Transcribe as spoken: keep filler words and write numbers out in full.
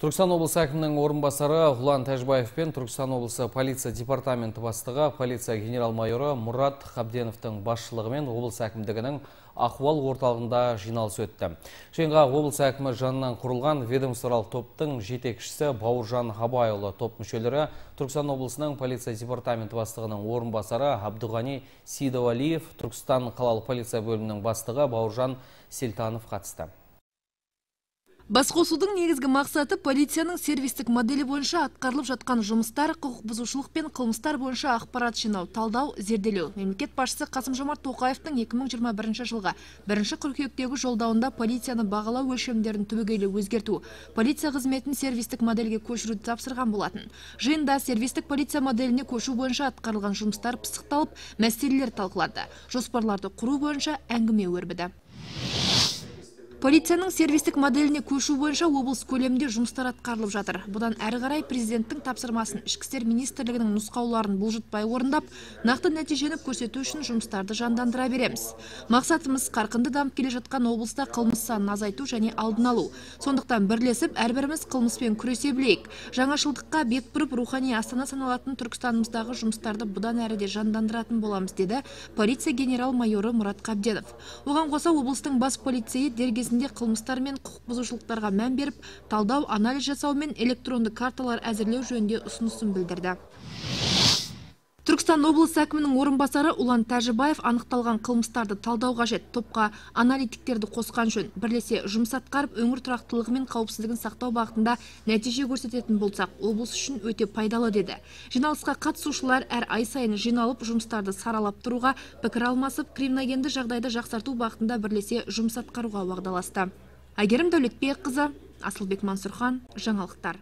Түркістан облысы әкімінің орынбасары Ұлан Тәжбаев пен Түркістан облысы полиция департаменті бастығы полиция генерал-майоры Мұрат Қабденовтың басшылығымен облыс әкімдігінің ахуал орталығында жиналыс өтті. Жиынға облыс әкімі жанынан құрылған ведомстволық топтың жетекшісі Бауыржан Абайұлы, топ мүшелері Түркістан облысының полиция департаменті бастығының орынбасары Абдуғани Сейдуалиев, Түркістан қалалық полиция бөлімінің бастығы Бауыржан Селтанов қатысты. Басқосудың негізгі мақсаты полицияның сервистік моделі бойынша атқарылып жатқан жұмыстар, құқық бұзушылық пен қылмыстар бойынша ақпарат жинау, талдау, зерделеу. Мемлекет басшысы Қасым-Жомарт Тоқаевтың екі мың жиырма бірінші жылғы бірінші қыркүйектегі жолдауында полицияны бағалау өлшемдерін түбегейлі өзгерту, полиция қызметін сервистік модельге көшіруді тапсырған болатын. Жиында сервистік полиция моделіне көшу бойынша атқарылған жұмыстар пысықталып, мәселелер талқыланды. Жоспарларды құру бойынша әңгіме өрбіді. Полицияның сервистік моделіне көшу бойынша облыс көлемінде жұмыстар атқарылып жатыр. Бұдан әрі қарай президенттің тапсырмасын ішкі істер министрлігінің нұсқауларын бұлжытпай орындап, нақты нәтижені көрсету үшін жұмыстарды жандандыра береміз. Мақсатымыз қарқынды дамып келе жатқан облыста қылмыс санын азайту және алдын алу. Сондықтан бірлесіп, әрбіріміз қылмыспен күресе білейік. Жаңашылдыққа бет бұрып, рухани астана саналатын Түркістанымыздағы жұмыстарды бұдан әрі де жандандыратын боламыз, деді полиция генерал-майоры Мұрат Қабденов. Оған қоса облыстың бас полицейі дергез қылмыстар мен құқық бұзушылықтарға мән беріп, талдау, анализ жасау мен электронды карталар әзірлеу жөнінде ұсынысын білдірді. Түркістан облысы әкімінің орынбасары Ұлан Тәжбаев анықталған қылмыстарды талдау қажет, топқа аналитиктерді қосқан жөн. Бірлесе жұмыс атқарып, өңір тұрақтылығы мен қауіпсіздігін сақтау бағытында нәтиже көрсететін болсақ, облыс үшін өте пайдалы, деді. Жиналысқа қатысушылар әр ай сайын жиналып, жұмыстарды саралап тұруға, пікір алмасып, криминогенді жағдайды жақсарту бағытында бірлесе жұмыс атқаруға уағдаласты. Әйгерім Дәулетбекқызы, Асылбек Мансұрхан, жаңалықтар.